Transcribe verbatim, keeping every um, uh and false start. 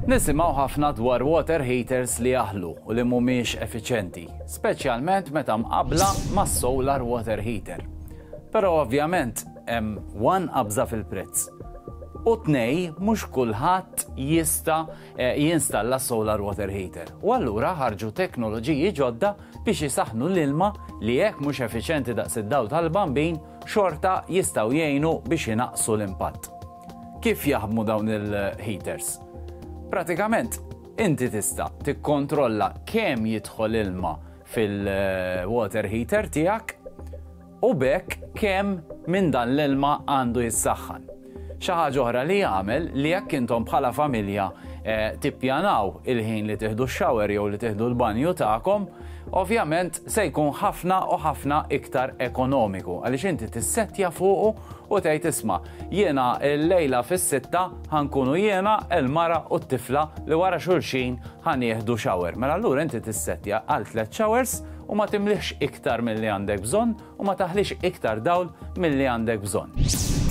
Nisimgħu ħafna dwar water heaters li jaħlu u li mhumiex effiċjenti, speċjalment meta mqabbla mas-solar water heater. Però ovvjament hemm one qabża fil-prezz. U tnejn, mhux kulħadd jista' eh, jinstalla solar water heater. U allura ħarġu teknoloġiji ġodda biex jisaħnu l-ilma li jekk mhux effiċjenti daqs id-dawl tal-bambin, xorta jistgħu jgħinu biex jinaqsu l-impatt. Kif jaħdmu dawn il-heaters? Pratikament, inti tista' tikkontrolla kemm jidħol ilma fil-water heater tiegħek u b'hekk kemm minn dan l-ilma għandu jissaħħan. Xi ħaġa oħra li jagħmel li jekk intom bħala familja eh, tippjanaw il-ħin li tieħdu x-shower jew li tieħdu l-banju tagħkom, ovvjament se jkun ħafna u ħafna iktar ekonomiku għaliex inti tissettja fuqu u tgħid, "Isma', jiena l-lejla fis-sitta ħa nkunu jiena, il-mara u t-tifla li wara xulxin ħa nieħdu shower." Mela allura inti tissettja għal tliet showers u ma timlix iktar milli għandek bżonn u ma taħlix iktar dawl milli għandek bżonn.